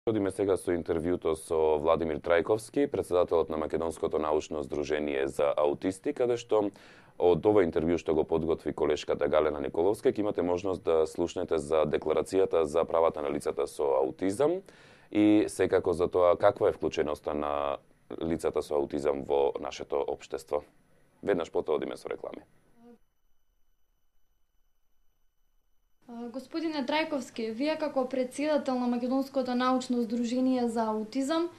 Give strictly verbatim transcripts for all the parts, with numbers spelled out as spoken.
Одиме сега со интервјуто со Владимир Трајковски, председателот на Македонското научно здружение за аутисти, каде што од ова интервју што го подготви колешката Галена Николовска, ќе имате можност да слушнете за декларацијата за правата на лицата со аутизам и секако за тоа каква е вклученоста на лицата со аутизам во нашето општество. Веднаш потоа одиме со реклами. Господине Трајковски, вие како председател на Македонското научно здружение за аутизам,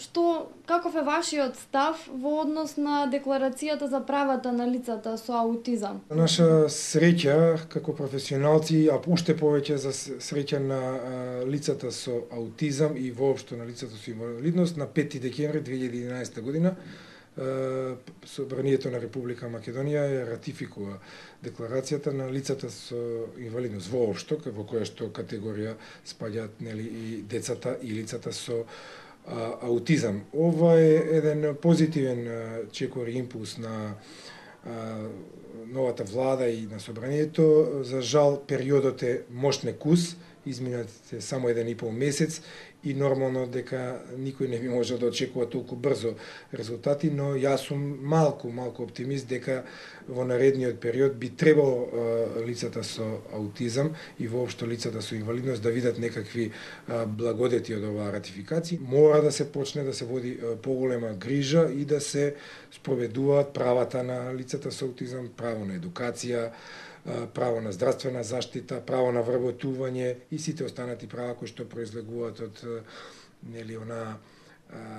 што каков е вашиот став во однос на декларацијата за правата на лицата со аутизам? Наша среќа како професионалци, а уште повеќе за среќа на лицата со аутизам и воопшто на лицата со инвалидност, на пети декември две илјади и единаесета година Собранието на Република Македонија ја ратификува декларацијата на лицата со инвалидност воопшто, во која што категорија спаѓаат нели и децата и лицата со а, аутизам. Ова е еден позитивен чекор импулс на а, новата влада и на Собранието. За жал периодот е мошнекус, изминатите само еден и пол месец и нормално дека никој не би можел да очекува толку брзо резултати, но јас сум малку, малку оптимист дека во наредниот период би требало а, лицата со аутизам и воопшто лицата со инвалидност да видат некакви а, благодети од оваа ратификација. Мора да се почне да се води а, поголема грижа и да се спроведуваат правата на лицата со аутизам, право на едукација, право на здравствена заштита, право на вработување и сите останати права кои што произлегуваат од нели она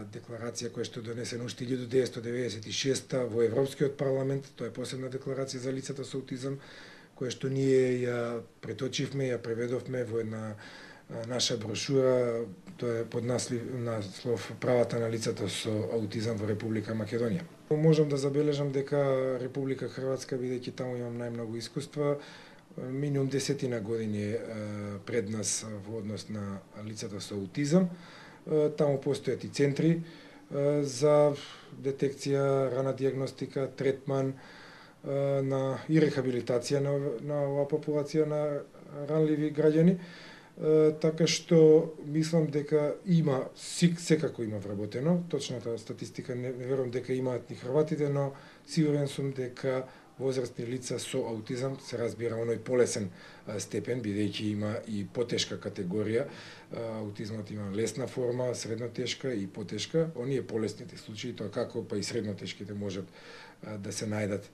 декларација која што донесена уште илјада деветстотини деветдесет и шеста во Европскиот парламент. Тоа е посебна декларација за лицата со аутизам која што ние ја преточивме, ја преведовме во една наша брошура, тоа е под наслов, наслов правата на лицата со аутизам во Република Македонија. Можам да забележам дека Република Хрватска, бидејќи таму имам најмногу искуства, минимум десетина години пред нас во однос на лицата со аутизам. Таму постојат и центри за детекција, рана диагностика, третман на и рехабилитација на, на оваа популација на ранливи граѓани. Така што мислам дека има, секако има вработено, точната статистика не, не верувам дека имаат ни хрватите, но сигурен сум дека возрастни лица со аутизам се разбира оној полесен степен, бидејќи има и потешка категорија. Аутизмот има лесна форма, средно тешка и потешка. Оние полесните случаи, тоа како па и средно тешките можат да се најдат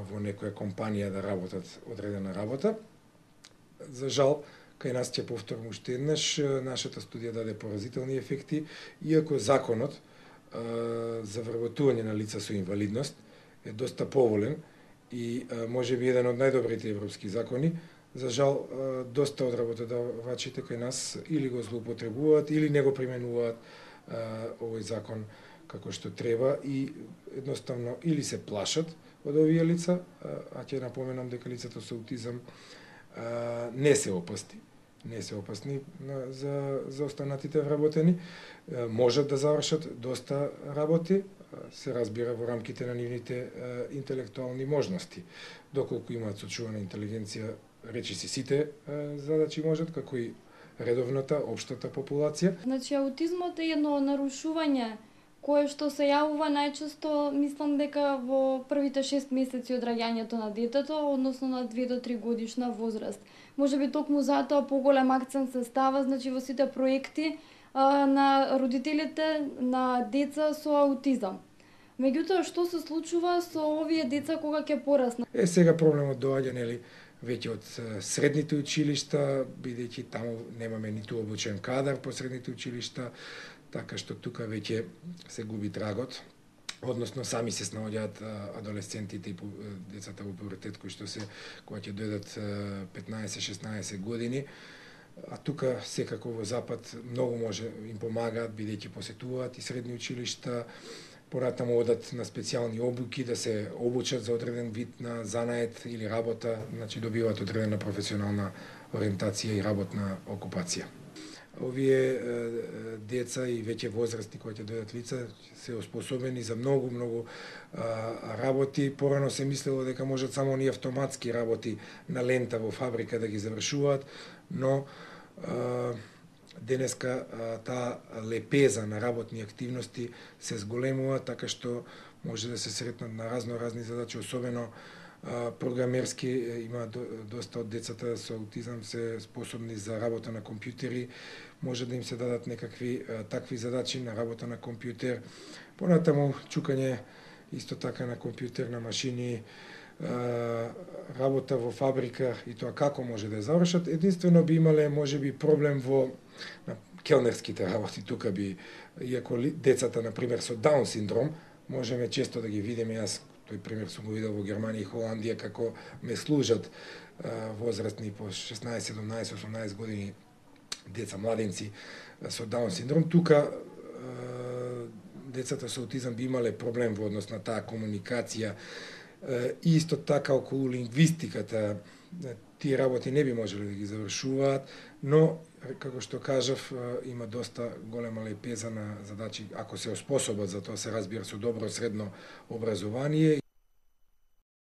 во некоја компанија да работат одредена работа. За жал, кај нас ќе повторам уште еднаш, нашата студија даде поразителни ефекти, иако законот а, за вработување на лица со инвалидност е доста поволен и а, може би еден од најдобрите европски закони, за жал а, доста од работодавачите кај нас или го злоупотребуваат или не го применуваат а, овој закон како што треба и едноставно или се плашат од овие лица, а, а ќе напоменам дека лицата со аутизам а, не се опасни. не се опасни за, за останатите вработени, можат да завршат доста работи, се разбира во рамките на нивните интелектуални можности. Доколку имаат сочувана интелигенција, речиси сите задачи можат, како и редовната, општата популација. Значи, аутизмот е едно нарушување кое што се јавува најчесто, мислам дека во првите шест месеци од раѓањето на детето, односно на две до три годишна возраст. Може би токму затоа поголем акцент се става, значи во сите проекти а, на родителите на деца со аутизам. Меѓутоа, што се случува со овие деца кога ќе пораснат? Е, сега проблемот доаѓа, нели, веќе од средните училишта, бидејќи таму немаме ниту обучен кадар по средните училишта, така што тука веќе се губи трагот, односно сами се снаоѓаат адолесцентите и децата во пубертет кои што се кога ќе дојдат петнаесет-шеснаесет години, а тука секако во Запад многу може им помагаат бидејќи посетуваат и средни училишта, понатаму одат на специјални обуки да се обучат за одреден вид на занает или работа, значи добиваат одредена професионална ориентација и работна окупација. Овие деца и веќе возрастни кои ќе дојдат лица се оспособени за многу, многу работи. Порано се мислело дека можат само оние автоматски работи на лента во фабрика да ги завршуваат, но денеска таа лепеза на работни активности се зголемува, така што може да се сретнат на разно разни задачи, особено програмерски. Има доста од децата со аутизам се способни за работа на компјутери, може да им се дадат некакви такви задачи на работа на компјутер. Понатаму чукање исто така на компјутер, на машини, работа во фабрика и тоа како може да ја завршат. Единствено би имале можеби проблем во на келнерските работи. Тука би, иако децата на пример со Даун синдром, можеме често да ги видиме. Јас тој пример сум го видел во Германија и Холандија како ме служат а, возрастни по шеснаесет, седумнаесет, осумнаесет години деца, младенци а, со Даун синдром. Тука а, децата со аутизам би имале проблем во однос на таа комуникација. И исто така околу лингвистиката, тие работи не би можеле да ги завршуваат, но, како што кажав, има доста голема лепеза на задачи, ако се оспособат за тоа, се разбира, со добро средно образование.